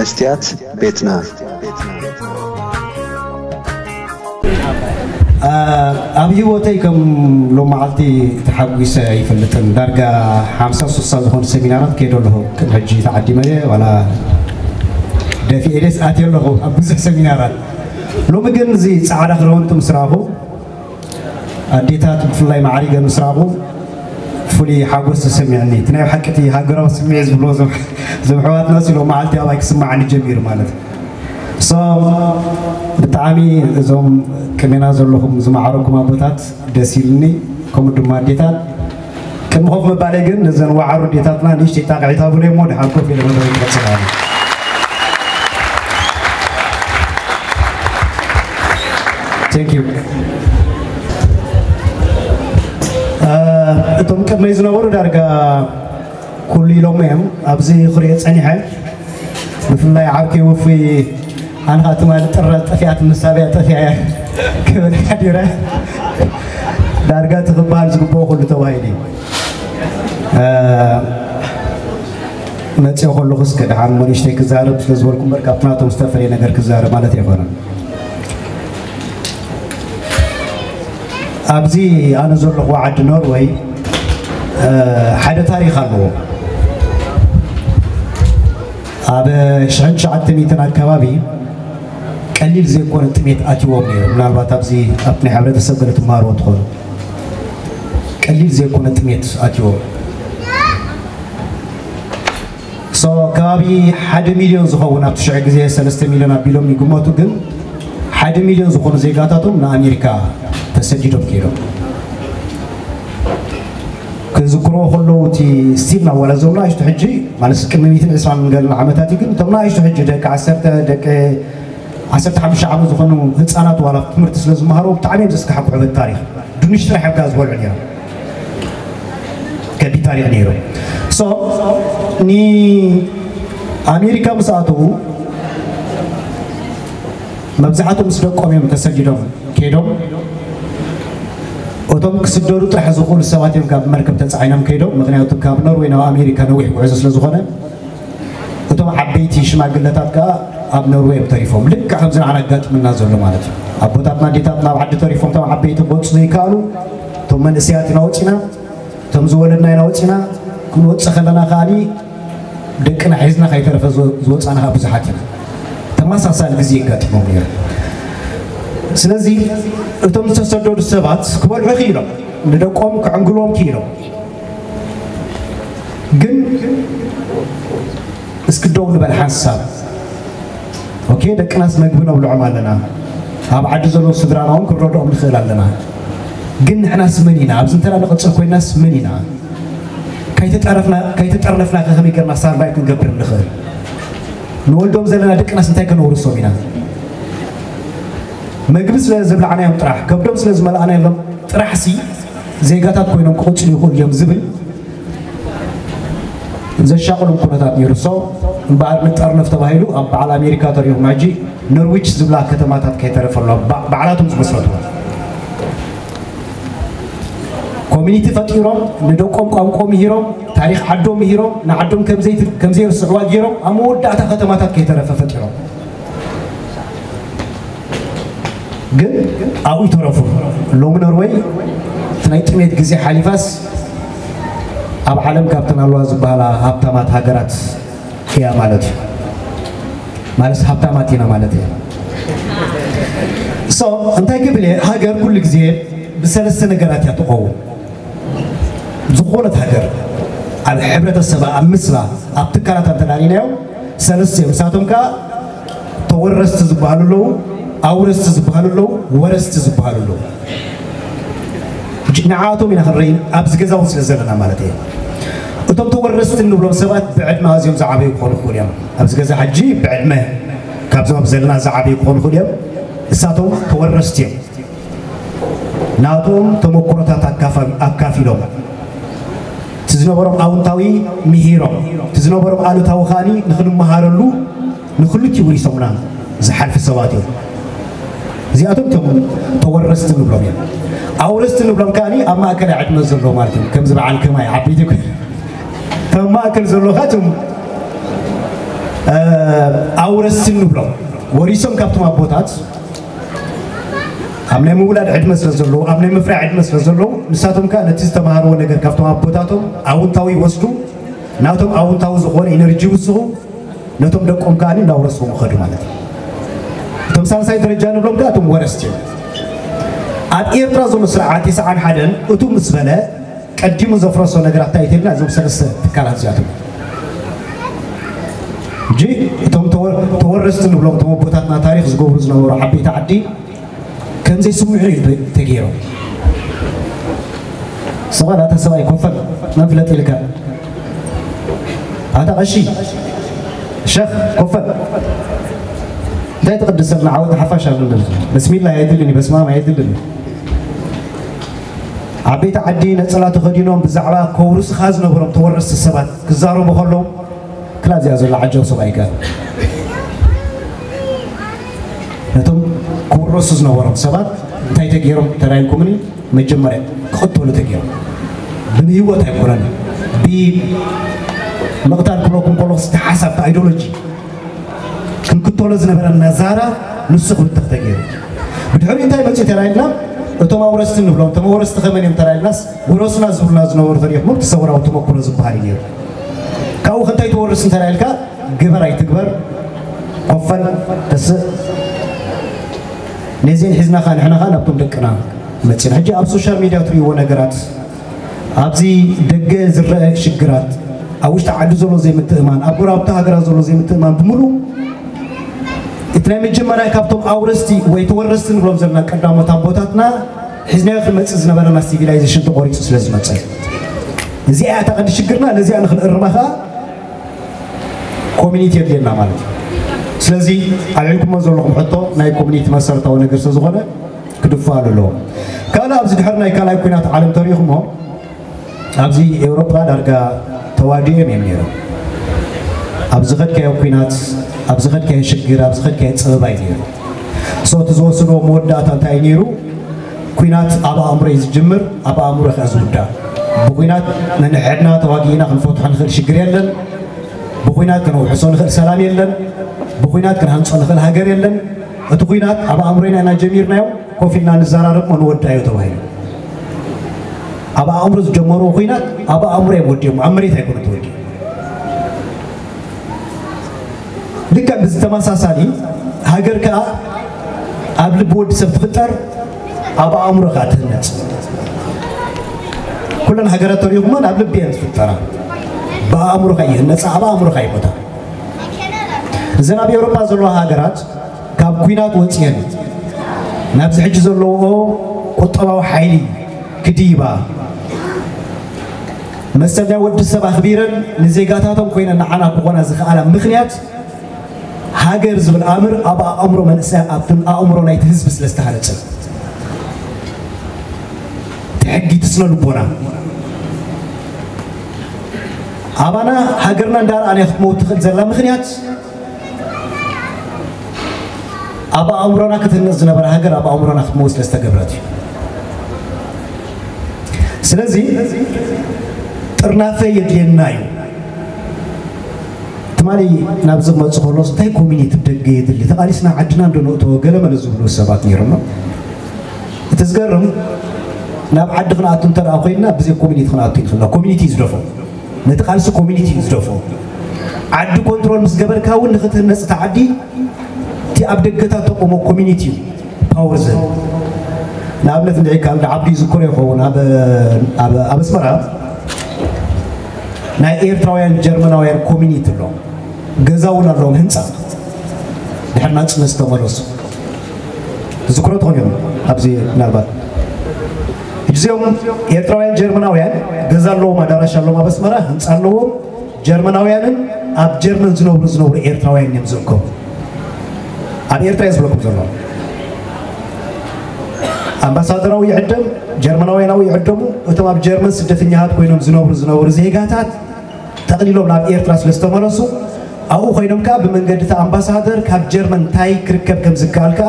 መስትያት ቤትና። ኣብ ህይወተይ ከም ሎመዓልቲ ተሓጒሰ ኣይፈልጥን። ዳርጋ ሓምሳ ስሳ ዝኾኑ ሰሚናራት ከይደ ኣለኹ። ቅድሚ ሕጂ ተዓዲመ እየ፣ ዋላ ደፊኤ ደስ ኣትየ ኣለኹ ኣብ ብዙሕ ሰሚናራት። ሎሚ ግን እዚ ጻዕዳ ክዳውንቲ ምስ ረኣኹ፣ ኣዴታት ብፍላይ ማዕሪገን ምስ ረኣኹ ፍሉይ ሓጎስ ተሰሚዕኒ። እቲ ናይ ብሓቂ እቲ ሃገራዊ ስምዒት ዝብልዎ እዞም እዞም ኣሕዋትና ሲ ሎመዓልቲ ኣባይ ክስምዓኒ ጀሚሩ ማለት እዩ። So ብጣዕሚ እዞም ቅድሜና ዘለኹም ዝማዕረኩም ኣቦታት ደስ ኢሉኒ፣ ከምኡ ድማ ኣዴታት። ቅድሚ ኮፍ ምባለይ ግን ነዘን ዋዕሮ ኣዴታትና ንእሽተይ ጣቕዒት ሃቡለይ እሞ ድሓር ኮፍ ኢለ መደበይ ክቕጽል ኣለኹ። Thank you። እቶም ቅድመይ ዝነበሩ ዳርጋ ኩሉ ኢሎሞ እዮም። ኣብዚ ክሪኦ ጸኒሐ፣ ብፍላይ ዓርከይ ውፉይ፣ ኣነ ኸኣ ትማሊ ጥረ ጠፊኣት፣ ምሳብያ ጠፊኣ እያ ክብል ሓዲረ። ዳርጋ እቲ ክበሃል ዝግብኦ ኩሉ ተባሂሉ እዩ። መፅኦ ከለኹ እስከ ደሓን ሞ ንእሽተይ ክዛረብ ስለ ዝበልኩ እምበር ካብቲ ናቶም ዝተፈለየ ነገር ክዛረብ ማለት ኣይኮነን። ኣብዚ ኣነ ዘለኹ ዓዲ ኖርወይ ሓደ ታሪኽ ኣለዎ። ኣብ ሽሕን ትሽዓተ ሚእትን ኣከባቢ ቀሊል ዘይኮነ ጥሜት ኣትይዎም ነይሩ። ምናልባት ኣብዚ ኣብቲ ናይ ሕብረተሰብ ገለ ትመሃርዎ ትኾኑ። ቀሊል ዘይኮነ ጥሜት ኣትይዎም። So ከባቢ ሓደ ሚልዮን ዝኸውን ኣብቲ ሽዑ ግዜ ሰለስተ ሚልዮን ኣቢሎም ይግመቱ፣ ግን ሓደ ሚልዮን ዝኾኑ ዜጋታቶም ንኣሜሪካ ተሰዲዶም ከይዶም። ክዝክርዎ ከለዉ እቲ ስቲል ናብ ዋላ እዞም ንኣሽቱ ሕጂ ማለት ቅድሚ ሚእትን ዕስራን ገለን ዓመታት እዩ፣ ግን እቶም ንኣሽቱ ሕጂ ደቂ ዓሰርተ ደቂ ዓሰርተ ሓሙሽተ ዓመት ዝኾኑ ህፃናት ዋላ ትምህርቲ ስለ ዝመሃሩ ብጣዕሚ እዮም ዘስካሕክሑ። በቲ ታሪኽ ድንሽ ጥራሕ እዮም ዝበልዑ ነይሮም። ከቢድ ታሪኽ ነይሩ። So ንኣሜሪካ ምስ ኣተዉ መብዛሕትኦም ምስ ደቆም እዮም ተሰዲዶም ከይዶም። እቶም ክስደዱ ጥራሕ ዝኽእሉ ሰባት እዮም ካብ መርከብ ተፃዒኖም ከይዶም። ምክንያቱ ካብ ኖርወይ ናብ ኣሜሪካ ነዊሕ ጉዕዞ ስለ ዝኾነ እቶም ዓበይቲ ሽማግለታት ከኣ ኣብ ኖርወይ እዮም ተሪፎም። ልክዕ ከምዚ ንዓና ኣጋጥመና ዘሎ ማለት እዩ። ኣቦታትና ኣዴታትና ኣብ ዓዲ ተሪፎም እቶም ዓበይቲ ክወፁ ዘይከኣሉ፣ እቶም መንእሰያት ኢና ወፂና፣ እቶም ዝወለድና ኢና ወፂና፣ ክንወፅእ ከለና ከኣኒ ደቅና ሒዝና ከይተረፈ ዝወ- ዝወፃና ከኣ ብዙሓት ኢና። ተመሳሳሊ ግዜ የጋጥሞም ነይሩ። ስለዚ እቶም ዝተሰደዱ ሰባት ክበልዑ ክኢሎም፣ ንደቆም ክዕንግሎም ክኢሎም። ግን እስኪ ደው ንበል ሓንሳብ። ኦኬ፣ ደቅናስ መግቢ ነብልዖም ኣለና፣ ኣብ ዓዲ ዘለዉ ስድራና እውን ክንረድኦም ንኽእል ኣለና። ግን ንሕናስ መን ኢና? ኣብዚ እንተ ንቕፅል ኮይናስ መን ኢና? ከይተጠረፍና ከይተጠርነፍና ከ ከመይ ጌርና ሳርቫይቭ ክንገብር ንኽእል? ንወልዶም ዘለና ደቅናስ እንታይ ከነውርሶም ኢና? መግቢ ስለ ዘብላዕናዮም ጥራሕ፣ ከብዶም ስለ ዝመልኣናዮም ጥራሕሲ ዜጋታት ኮይኖም ክቕፅሉ ይኽእሉ እዮም ዝብል ዘሻቕሎም ኩነታት ነይሩ። So እምበኣር ንጠርነፍ ተባሂሉ ኣብ በዓል ኣሜሪካ ተሪኹም ሕጂ ኖርዊች ዝብላ ከተማታት ከይተረፈ ኣሎ፣ ባ- ባዕላቶም ዝመስረትዎ ኮሚኒቲ ፈጢሮም ንደቆም ቋንቋ ምሂሮም ታሪኽ ዓዶም ምሂሮም ንዓዶም ከምዘይት- ከምዘይርስዕዋ ገይሮም ኣብ መወዳእታ ከተማታት ከይተረፈ ፈጢሮም። ግን ኣብኡ ይተረፉ። ሎሚ ኖርወይ እቲ ናይ ጥሜት ግዜ ሓሊፋስ ኣብ ዓለም ካብተን ኣለዋ ዝበሃላ ሃብታማት ሃገራት እያ ማለት እዩ። ማለት ሃብታማት ኢና ማለት እያ። So እንታይ ክብል እየ፣ ሃገር ኩሉ ግዜ ብሰለስተ ነገራት እያ ትኸውን። ዝኾነት ሃገር ኣብ ሕብረተሰባ ኣብ ምስላ ኣብ ትካላታ እንተዳሪናዮም ሰለስተ እዮም። ንሳቶም ከዓ ተወረስቲ ዝበሃሉ ኣለዉ፣ ኣውረስቲ ዝበሃሉ ኣለዉ፣ ወረስቲ ዝበሃሉ ኣለዉ። ሕጂ ንዓቶም ኢና ክንርኢ ኣብዚ ገዛ እውን ስለ ዘለና ማለት እየ። እቶም ተወረስቲ እንብሎም ሰባት ብዕድመ ኣዝዮም ዝዓበዩ ክኾኑ ይኽእሉ እዮም። ኣብዚ ገዛ ሕጂ ብዕድመ ካብዞም ኣብ ዘለና ዝዓበዩ ክኾኑ ይኽእሉ እዮም። ንሳቶም ተወረስቲ እዮም። ናቶም ተመክሮታት ኣካፋ- ኣካፊሎም እቲ ዝነበሮም ኣውንታዊ ምሂሮም እቲ ዝነበሮም ኣሉታዊ ከዓኒ ንክንመሃረሉ ንክልቲኡ ውሪሶምና ዝሓልፉ ሰባት እዮም። እዚኣቶም እቶም ተወረስቲ ንብሎም እዮም። ኣውረስቲ ንብሎም ከዓኒ ኣብ ማእከላይ ዕድመ ዘለዎ ማለት እዮም። ከምዚ በዓል ከማይ ዓበይቲ ኮ- ከም ማእከል ዘለኻ እቶም ኣውረስቲ ንብሎም ወሪሶም ካብቶም ኣቦታት ኣብ ናይ ምውላድ ዕድመ ስለ ዘለዉ ኣብ ናይ ምፍራይ ዕድመ ስለ ዘለዉ ንሳቶም ከኣ ነቲ ዝተማሃርዎ ነገር ካብቶም ኣቦታቶም ኣውንታዊ ይወስዱ ናቶም ኣውንታዊ ዝኾነ ኢነርጂ ይውስኹ ነቶም ደቆም ከኣ እንዳውረስዎም ይኸዱ ማለት እዩ። እቶም ሳልሳይ ደረጃ ንብሎም ከኣ እቶም ወረስቲ እዮም። ኣብ ኤርትራ ዘሎ ስርዓት ተስዓን ሓደን እቱ ምስ በለ ቀዲሙ ዘፍረሶ ነገራት እንታይ ተልና እዞም ሰለስተ ትካላት እዚኣቶም እንጂ እቶም ተወረስቲ ንብሎም እቶም ኣቦታትና ታሪክ ዝገብሩ ዝነበሩ ዓበይቲ ዓዲ ከምዘይ ስምዑ እዩ ተገይሮም። ሰብኣይ ኣታ ሰብኣይ ኮፈል መን ፍለጥ ኢልካ ኣታ ቀሺ ሸኽ ኮፈል እንታይ ትቅድሰልና ዓወት ሓፋሽ ኣለና በስሚላ የድልን በስማማ የድልን ዓበይቲ ዓዲ ነፀላ ተኸዲኖም ብዛዕባ ከውርስኻ ዝነበሮም ተወረስቲ ሰባት ክዛረቡ ከለዉ ክላ እዚኣ ዘሎ ዓጀው ሰብኣይ ከ ነቶም ክውረሱ ዝነበሮም ሰባት እንታይ ተገይሮም ተራይልኩምኒ መጀመርያ ክቕተሉ ተገይሮም ብንህይወት ኣይኮነን ብምቕታል ክብለኩም ከለኹ ዝተሓሳብ ኣይዲዮሎጂ ክንክተሎ ዝነበረና ዛራ ንሱ ክብተኽ ተገይሩ ብድሕሪኡ እንታይ መፅኡ ተራይልና እቶም ኣውረስቲ ንብሎም እቶም ኣውረስቲ ከመን እዮም ተራይልናስ ወረሱና ዝብሉና ዝነበሩ ተሪኽሞም ተሰውራዊ ተመክሮ ዝበሃል እዩ ነይሩ ካብኡ ክንታይ ትወርስ እንተራይልካ ግበር ኣይትግበር ኮፈል ተስእ ነዚን ሒዝና ኸ ንሕና ኸ ናብቶም ደቅና መፂና ሕጂ ኣብ ሶሻል ሚድያ ትሪእዎ ነገራት ኣብዚ ደገ ዝረአ ሽግራት ኣብ ውሽጢ ዓዲ ዘሎ ዘይምትእማን ኣብ ጎራብቲ ሃገራት ዘሎ ዘይምትእማን ብምሉ እቲ ናይ መጀመርያ ካብቶም ኣውረስቲ ወይ ተወረስቲ ንብሎም ዘለና ቀዳሞት ኣቦታትና ሒዝናዮ ክንመፅእ ዝነበረና ሲቪላይዜሽን ተቆሪፁ ስለ ዝመፀ እዚኣ እያ ተቐዲ ሽግርና ነዚኣ ንክንእርማ ከዓ ኮሚኒቲ የድልየና ማለት እዩ ስለዚ ኣልዒልኩሞ ዘለኹም ሕቶ ናይ ኮሚኒቲ መሰረታዊ ነገር ስለ ዝኾነ ክድፋሉ ኣለዎ ካልእ ኣብዚ ድሕሪ ናይ ካልኣይ ኩናት ዓለም ተሪእኹሞ ኣብዚ ኤውሮጳ ዳርጋ ተዋዲኦም እዮም ነይሮም ኣብ ዝኸድካዮ ኩናት ኣብ ዝኸድካዮ ሽግር ኣብ ዝኸድካዮ ፀበባ እዩ ነይሩ so እቲ ዝወሰድዎ መወዳእታ እንታይ እዩ ነይሩ ኩናት ኣብ ኣእምሮ እዩ ዝጅምር ኣብ ኣእምሮ ከ ዝውዳእ ብኩናት ነንሕድና ተዋጊእና ክንፈትሖ ንኽእል ሽግር የለን ብኩናት ከነውሕሶ ንኽእል ሰላም የለን ብኩናት ክንሃንፆ ንኽእል ሃገር የለን እቲ ኩናት ኣብ ኣእምሮና ኢና ጀሚርናዮ ኮፍ ኢልና ንዘራረብ ንወዳዮ ተባሂሉ ኣብ ኣእምሮ ዝጀመርዎ ኩናት ኣብ ኣእምሮ እዮም ወዲኦም ኣብ መሬት ኣይኮነ ተወዲኡ ልክዕ ብዝተመሳሳሊ ሃገር ከዓ ኣብ ልቢ ወዲ ሰብ ትፍጠር ኣብ ኣእምሮ ከዓ ትህነፅ ኩለን ሃገራት ተሪኹመን ኣብ ልቢ እየን ዝፍጠራ ብኣእምሮኻ ይህነፃ ኣብ ኣእምሮኻ ይሞታ እዘን ኣብ ኤውሮፓ ዘለዋ ሃገራት ካብ ኩናት ወፅየን ናብዚ ሕጂ ዘለዎ ቁጠባዊ ሓይሊ ክድይባ መሰል ናይ ወዲ ሰብ ኣኽቢረን ንዜጋታቶም ኮይነን ንዓና ክኾና ዝኽኣላ ምኽንያት ሃገር ዝብል ኣምር ኣብ ኣእምሮ መንእሰያት ኣብትን ኣእምሮ ናይቲ ህዝቢ ስለ ዝተሃነፀ እቲ ሕጊ ትስነ ልቦና ኣባና ሃገርና እንዳረኣናዮ ክትመውት ትኽእል ዘላ ምኽንያት ኣብ ኣእምሮና ክትህነፅ ዝነበረ ሃገር ኣብ ኣእምሮና ክትመውት ስለ ዝተገብረት እዩ ስለዚ ጥርናፈ የድልየና እዩ ትማሊ ናብዚ ክመፅእ ከሎስ እንታይ ኮሚኒቲ ደገ የድሊ ተቓሊስና ዓድና እንዶ ንእተዎ ገለመለ ዝብሉ ሰባት ነይሮም እቲ ዝገርም ናብ ዓዲ ክንኣቱ እንተ ኮይንና ብዘይ ኮሚኒቲ ክንኣቱ ይኽእልና ኮሚኒቲ ዝደፎ ነቲ ቃልሲ ኮሚኒቲ እዩ ዝደፍኦ። ዓዲ ኮንትሮል ምስ ገበርካ እውን ንኽትህነፅ እታ ዓዲ እቲ ኣብ ደገታት ተቆሞ ኮሚኒቲ እዩ ፓወር ዝህብ። ንኣብነት እንድዒ ካልድ ዓብዱ ይዝክሮ ይኸውን ኣብ ኣብ ኣስመራ ናይ ኤርትራውያን ጀርመናውያን ኮሚኒቲ ኣሎ። ገዛ እውን ኣለዎም ህንፃ ድሕሪ ናፅነት ዝተመለሱ ዝክሮ ትኾን እዮም። ኣብዚ ምናልባት እዚኦም ኤርትራውያን ጀርመናውያን ገዛ ኣለዎም፣ ኣዳራሽ ኣለዎም፣ ኣብ ኣስመራ ህንፃ ኣለዎም። ጀርመናውያንን ኣብ ጀርመን ዝነብሩ ዝነብሩ ኤርትራውያን እዮም ዝእከቡ። ኣብ ኤርትራ እየ ዝብለኩም ዘሎ። ኣምባሳደራዊ ይዕደም፣ ጀርመናውያናዊ ይዕደሙ። እቶም ኣብ ጀርመን ስደተኛታት ኮይኖም ዝነብሩ ዝነበሩ ዜጋታት ጠቕሊሎም ናብ ኤርትራ ስለ ዝተመለሱ ኣብኡ ኮይኖም ከዓ ብመንገዲ እቲ ኣምባሳደር ካብ ጀርመን እንታይ ክርከብ ከም ዝከኣል ከዓ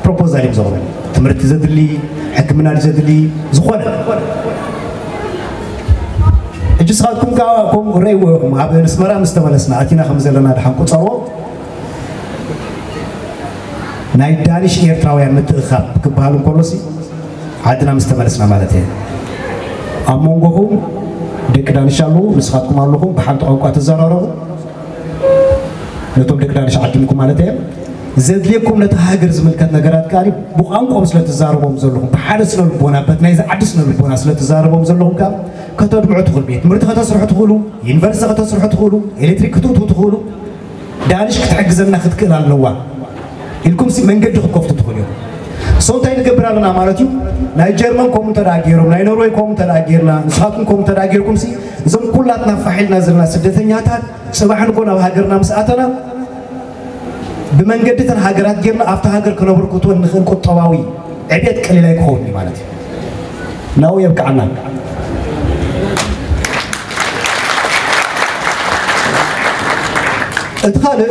ፕሮፖዛል እዮም ዘቕርቡ። ትምህርቲ ዘድሊ፣ ሕክምና ዘድሊ፣ ዝኾነ ንስኻትኩም ከዓ ከምኡ ረእይዎ ኢኹም። ኣብ ኣስመራ ምስ ተመለስና፣ ኣቲና ከም ዘለና ድሓን ቁጸርዎ። ናይ ዳኒሽ ኤርትራውያን ምትእኻብ ክበሃል እንከሎሲ፣ ዓድና ምስ ተመለስና ማለት እየ። ኣብ መንጎኹም ደቂ ዳኒሽ ኣለዉ፣ ንስኻትኩም ኣለኹም፣ ብሓንቲ ቋንቋ ትዘራረቡ። ነቶም ደቂ ዳኒሽ ዓዲምኩም ማለት እየ። ዘድልየኩም ነቲ ሃገር ዝምልከት ነገራት ከኣ ብቋንቋኦም ስለ ትዛረቦም ዘለኹም፣ ብሓደ ስነ ልቦና፣ በቲ ናይዚ ዓዲ ስነ ልቦና ስለ ትዛረቦም ዘለኹም ከኣ ከተድምዑ ትኽእሉ። ቤት ትምህርቲ ከተስርሑ ትኽእሉ፣ ዩኒቨርሲቲ ከተስርሑ ትኽእሉ፣ ኤሌክትሪክ ክትእትዉ ትኽእሉ። ዳኒሽ ክትሕግዘና ክትክእል ኣለዋ ኢልኩም ሲ መንገዲ ክትከፍቱ ትኽእሉ እዮም። ሶ እንታይ ንገብር ኣለና ማለት እዩ? ናይ ጀርመን ከምኡ እንተ ደኣ ገይሮም፣ ናይ ኖርወይ ከምኡ እንተ ደኣ ገይርና፣ ንስኻትኩም ከምኡ እንተ ደኣ ገይርኩም ሲ እዞም ኩላትና ፋሕ ኢልና ዘለና ስደተኛታት ጽባሕ ንግሆ ናብ ሃገርና ምስ ኣተና ብመንገዲ እተን ሃገራት ጌርና ኣብታ ሃገር ከነበርክቶ እንኽእል ቁጠባዊ ዕቤት ቀሊል ኣይክኸውን እዩ ማለት እዩ። ናብኡ የብቅዓና። እቲ ካልእ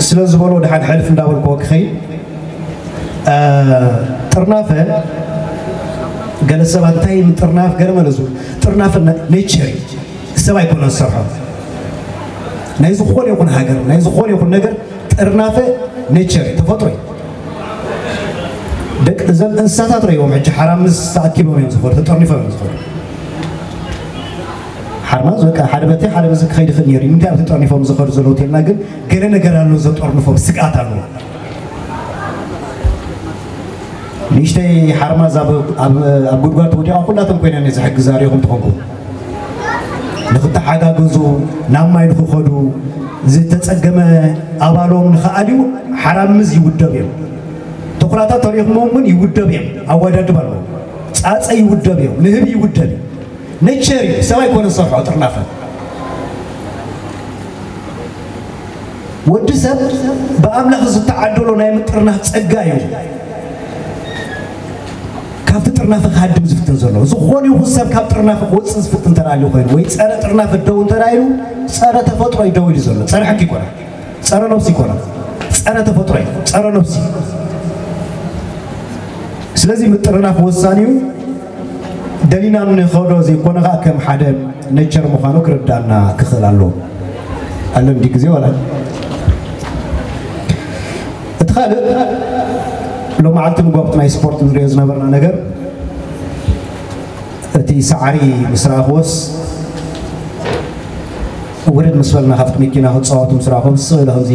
ስለ ዝበሎ ድሓን ሕልፍ እንዳበልክዎ ክኸይድ፣ እ፣ ጥርናፈ፣ ገለ ሰባት እንታይ ምጥርናፍ ገለ መለሱ። ጥርናፈ ነ-፣ ኔቸር እዩ። ሰብ ኣይኮነን ዝሰርሖ። ናይ ዝኾነ ይኹን ሃገር፣ ናይ ዝኾነ ይኹን ነገር ጥርናፈ ኔቸር እዩ፣ ተፈጥሮ እዩ። ደቂ፣ እዘን እንስሳታት ረእይዎም ሕጂ ሓራምዝ ተኣኪቦም እዮም ዝኸዱ፣ ተጠርኒፎም እዮም ዝኸዱ። ሓርማዝ በቃ ሓደ በቲ ሓደ በዚ ክኸይድ ይኽእል ነይሩ እዩ። ንምንታይ እዮም ተጠርኒፎም ዝኸዱ ዘለዉ ተልና ግን ገለ ነገር ኣሎ ዘጠርንፎም፣ ስግኣት ኣሎ። ንእሽተይ ሓርማዝ ኣብ፣ ኣብ፣ ኣብ ጉድጓድ ተወዲቓ ኩላቶም ኮይነን እየ ዝሕግዛ ሪኢኹም ትኾንኩም። ንኽተሓጋገዙ፣ ናብ ማይ ንኽኸዱ፣ ዝተጸገመ ኣባሎም ንኽኣልዩ ሓራምዝ ይውደብ እዮም። ተኹላታት ተሪእኹሞም እውን ይውደብ እዮም። ኣወዳድባ ኣለዎ። ጻጸ ይውደብ እዮም። ንህቢ ይውደብ እዩ። ነቸር እዩ። ሰብ ኣይኮነን ዝሰርሖ ጥርናፈ። ወዲ ሰብ ብኣምላኽ ዝተዓደሎ ናይ ምጥርናፍ ጸጋ እዩ። ካብቲ ጥርናፈ ክሃድም ዝፍትን ዘሎ። ዝኾነ ይኹን ሰብ ካብ ጥርናፈ ክወጽእ ዝፍትን እንተ ደኣ ኮይኑ፣ ወይ ጸረ ጥርናፈ ደው እንተ ደኣ ኢሉ፣ ጸረ ተፈጥሮ እዩ ደው ኢሉ ዘሎ። ጸረ ሕጊ ይኮነ። ጸረ ነብሲ ይኮነ። ጸረ ተፈጥሮ እዩ። ጸረ ነብሲ። ስለዚ ምጥርናፍ ወሳኒ እዩ። ደሊና ንኸዶ ዘይኮነ ኸኣ ከም ሓደ ኔቸር ምዃኑ ክርዳእና ክኽእል ኣለዎ። ኣለ እንዲ ግዜ ዋላ። እቲ ካልእ ሎመዓልቲ ንጎብቲ ናይ ስፖርት ንሪኦ ዝነበርና ነገር፣ እቲ ሳዕሪ ምስ ረኣኽዎስ፣ ውርድ ምስ በልና ካብቲ መኪና ክጻወቱ ምስ ረኣኽዎም፣ ስቕ ኢለ ከምዚ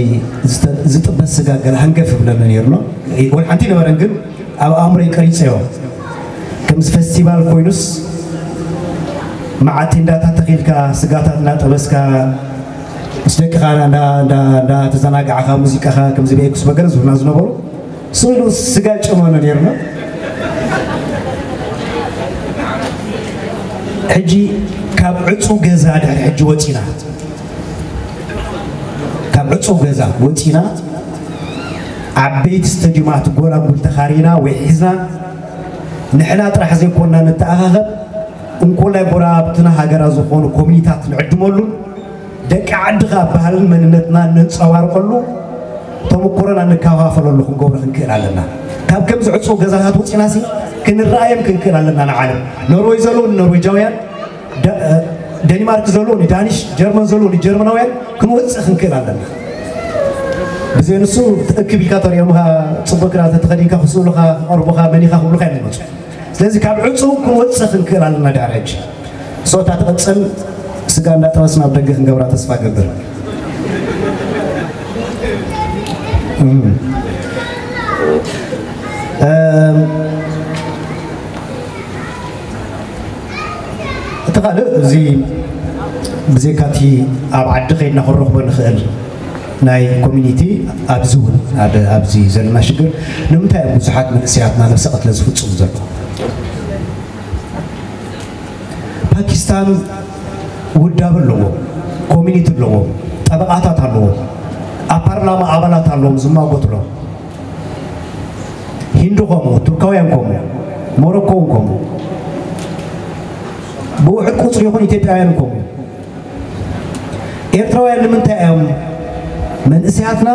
ዝተ-፣ ዝጥበስ ስጋ ገለ ሃንገፍ ይብለኒ ነይሩ ኣሎ። ወላ ሓንቲ ነበረን፣ ግን ኣብ ኣእምሮይ ቀሪጸዮ። ከምዚ ፈስቲቫል ኮይኑስ፣ መዓት ቴንዳታት ተኺልካ፣ ስጋታት እናጠበስካ፣ ምስ ደቅኻ እንዳ-፣ እንዳ-፣ እንዳተዘናጋዕካ፣ ሙዚቃኻ ከምዚ ቤኩስ መገለ ዝብሉና ዝነበሩ፣ ስቕ ኢሉ ስጋ ጨመነ ነይርና። ሕጂ ካብ ዕጹው ገዛ ድሕሪ ሕጂ ወጺና፣ ካብ ዕጹው ገዛ ወጺና፣ ዓበይቲ ስቴድዩማት ጎላጉል ተኻሪና ወይ ሒዝና፣ ንሕና ጥራሕ ዘይኮንና ንተኣኻኸብ፣ እንኮላይ ጎረባብትና ሃገራት ዝኾኑ ኮሚኒታት ንዕድመሉን፣ ደቂ ዓዲ ኸኣ ባህልን መንነትና ነንጸባርቐሉ፣ ተመኩሮና ንከፋፈለሉ ክንገብሮ ክንክእል ኣለና። ካብ ከምዚ ዕጹው ገዛታት ወጺናሲ ክንረኣዮም ክንክእል ኣለና ንዓለም። ኖርወይ ዘለዉ ንኖርዌጃውያን፣ ደ-፣ እ፣ ደኒማርክ ዘለዉ ንዳኒሽ፣ ጀርመን ዘለዉ ንጀርመናውያን ክንወጽእ ክንክእል ኣለና። ብዘይ ንሱ ትእክብ ኢልካ ተሪኦምኻ፣ ጽቡቕ ክዳን ተተኸዲንካ ክስእሉኻ፣ ክቐርቡኻ፣ መን ኢኻ ክብሉኻ እዮም ዝመጹ። ስለዚ ካብ ዕጹው ክንወጽእ ክንክእል ኣለና ድሕሪ ሕጂ። ሶ እታ ትቕጽል ስጋ እንዳጠበስና ኣብ ደገ ክንገብራ ተስፋ እገብር። እም። እም፣ እቲ ካልእ እዚ ብዘይካቲ ኣብ ዓዲ ከይድና ክንረኽቦ ንኽእል ናይ ኮሚኒቲ ኣብዚ እውን ኣብ-፣ ኣብዚ ዘለና ሽግር ንምንታይ እዮም ብዙሓት መንእሰያትና ነብሰ ቅትለት ዝፍጽሙ ዘለዉ? ፓኪስታን ውዳብ ኣለዎም፣ ኮሚኒቲ ኣለዎም፣ ጠበቓታት ኣለዎም፣ ኣብ ፓርላማ ኣባላት ኣለዎም ዝማጎትሎም። ሂንዲ ከምኡ፣ ቱርካውያን ከምኡ፣ ሞሮኮ እውን ከምኡ። ብውሑድ ቁጽሪ ይኹን ኢትዮጵያውያን ከምኡ። ኤርትራውያን ንምንታይ እዮም መንእሰያትና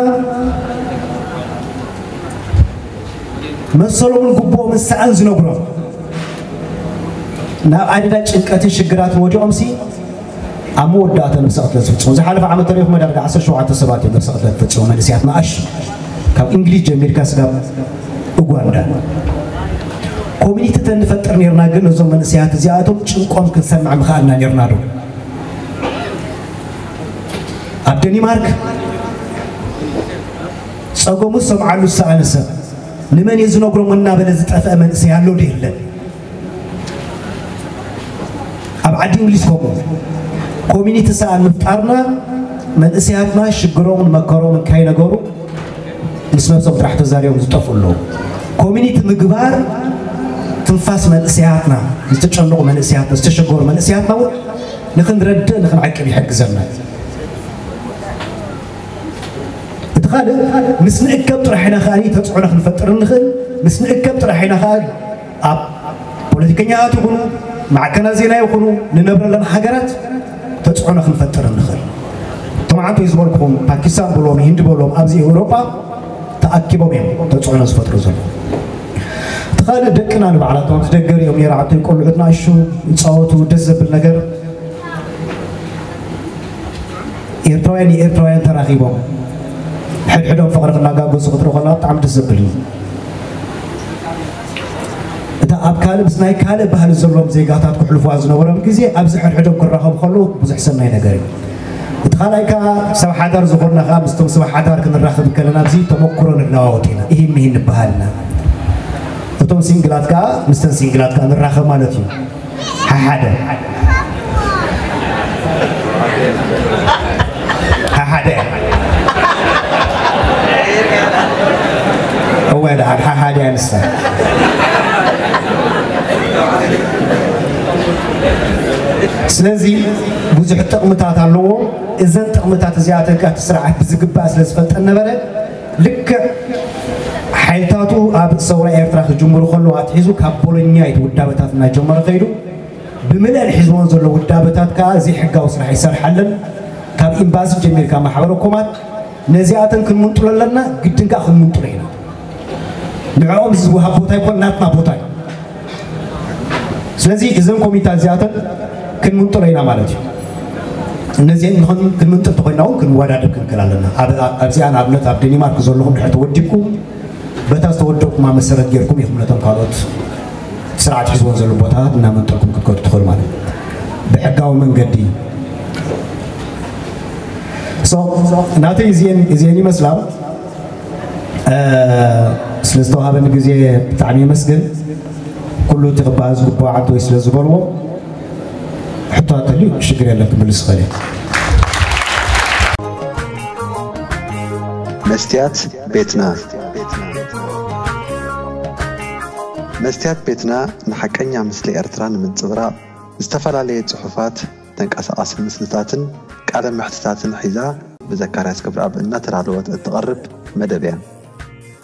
መሰሎምን ግቡኦምን ሰኣን ዝነግሮም? ናብ ኣደዳ ጭንቀትን ሽግራትን ወዲቖምሲ ኣብ መወዳእታ ነብሰ ቅትለት ዝፍጽሙ። ዝሓለፈ ዓመት ተሪኹም ዳርጋ ዓሰርተ ሸውዓተ ሰባት እዮም ነብሰ ቅትለት ዝፍጽሙ፣ መንእሰያት ንኣሽ፣ ካብ እንግሊዝ ጀሚርካ ስጋብ ኡጋንዳ። ኮሚኒቲ ተንፈጥር ነርና፣ ግን ነዞም መንእሰያት እዚኣቶም ጭንቆም ክንሰምዕ ምኽኣልና ነርና ዶ? ኣብ ደኒማርክ ጸገሙ ዝሰምዓሉ ዝሰኣነ ሰብ ንመን እዩ ዝነግሮም እናበለ ዝጠፍአ መንእሰይ ኣሎ ዶ የለን? ኣብ ዓዲ እንግሊዝ ከምኡ ኮሚኒቲ ሰኣን ምፍጣርና መንእሰያትና ሽግሮምን መከሮምን ካይነገሩ ምስ ነብሶም ጥራሕ ተዛሪቦም ዝጠፍኡ ኣለዉ። ኮሚኒቲ ምግባር ትንፋስ መንእሰያትና፣ ዝተጨነቑ መንእሰያትና፣ ዝተሸገሩ መንእሰያትና እውን ንኽንረድእ ንኽንዓቅብ ይሕግዘና። እቲ ካልእ ምስ ንእከብ ጥራሕ ኢና ከኣ ተጽዕኖ ክንፈጥር እንኽእል። ምስ ንእከብ ጥራሕ ኢና ከኣ ኣብ ፖለቲከኛታት ይኹኑ፣ ማዕከናት ዜና ይኹኑ፣ ንነብረለን ሃገራት ተጽዕኖ ክንፈጥር እንኽእል። እቶም ዓንቶይ ዝበልኩኹም ፓኪስታን በሎም፣ ሂንዲ በሎም፣ ኣብዚ ኤውሮጳ ተኣኪቦም እዮም ተጽዕኖ ዝፈጥሩ ዘለዉ። እቲ ካልእ ደቅና ንባዕላቶም ኣብዚ ደገ ሪኦም ነይረ ዓንቶይ ቆልዑት ንኣሹ ይጻወቱ፣ ደስ ዘብል ነገር። ኤርትራውያን ንኤርትራውያን ተራኺቦም ሕድሕዶም ፍቕሪ ክናጋገዙ ክትርኢ ከለኻ ብጣዕሚ ደስ ዘብል እዩ። እታ ኣብ ካልእ ምስ ናይ ካልእ ባህሊ ዘለዎም ዜጋታት ክሕልፉዋ ዝነበሮም ግዜ ኣብዚ ሕድሕዶም ክራኸቡ ከለዉ ብዙሕ ሰናይ ነገር እዩ። እቲ ካልኣይ ከኣ ሰብ ሓዳር ዝኾንና ከኣ ምስቶም ሰብ ሓዳር ክንራኸብ ከለና ኣብዚ ተመክሮ ንለዋወጥ ኢና፣ ኢሂን ምሂን ንበሃል ኢና። እቶም ሲንግላት ከኣ ምስተን ሲንግላት ከኣ ንራኸብ ማለት እዩ። ሓሓደ ሓሓደ እወ ደሓን ሓሓደ እያ ንሳ። ስለዚ ብዙሕ ጥቕምታት ኣለዎ። እዘን ጥቕምታት እዚኣተን ከኣ እቲ ስርዓት ብዝግባእ ስለ ዝፈልጠን ነበረ፣ ልክዕ ሓይልታቱ ኣብ ሰውራ ኤርትራ ክጅምሩ ከለዉ ኣትሒዙ ካብ ቦሎኛ እቲ ውዳበታት እናጀመረ ከይዱ ብምልአን ሒዝዎን ዘሎ ውዳበታት ከኣ ዘይሕጋዊ ስራሕ ይሰርሓለን። ካብ ኤምባሲ ጀሚርካ ማሕበረ ኮማት ነዚኣተን ክንምንጥሎ ኣለና፣ ግድን ከኣ ክንምንጥሎ ኢና። ንዕኦም ዝወሃብ ቦታ ይኮን ናትና ቦታ እዩ። ስለዚ እዘን ኮሚታት እዚኣተን ክንምንጥሎ ኢና ማለት እዩ። እነዚአን ንኽን- ክንምንጥል ተኾይና እውን ክንወዳደር ክንክእል ኣለና። ኣብ- ኣብዚኣ ንኣብነት ኣብ ደኒማርክ ዘለኹም ድሕር ተወዲብኩም በታ ዝተወደብኩማ መሰረት ጌርኩም ኢኹም ነቶም ካልኦት ስርዓት ሒዝዎም ዘሎ ቦታታት እናመንጠልኩም ክትከዱ ትኽእሉ ማለት እዩ። ብሕጋዊ መንገዲ። So፣ ናተይ እዚአን እዚአን ይመስላ። ስለ ዝተዋሃበኒ ግዜ ብጣዕሚ የመስግን። ኩሉ እቲ ክበሃል ዝግብኦ ዓንቶይ ስለ ዝበልዎ ሕቶ ኣተልዩ ሽግር የለን ክምልስ ይኽእል እየ። መስትያት ቤትና። መስትያት ቤትና ንሓቀኛ ምስሊ ኤርትራ ንምንጽብራቕ ዝተፈላለየ ጽሑፋት፣ ተንቀሳቓሲ ምስልታትን ቃለ መሕትታትን ሒዛ ብዘካርያስ ክብረኣብ እናተዳለወት እትቐርብ መደብ እያ።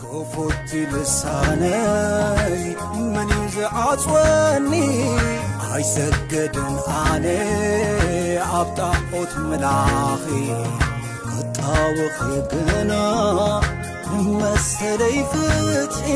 ክፉት ልሳነይ መን እዩ ዝዓጽወኒ? ኣይሰግድን ኣነ ኣብ ጣዖት ምላኺ ክጣወኺ ግና መሰለይ ፍትሒ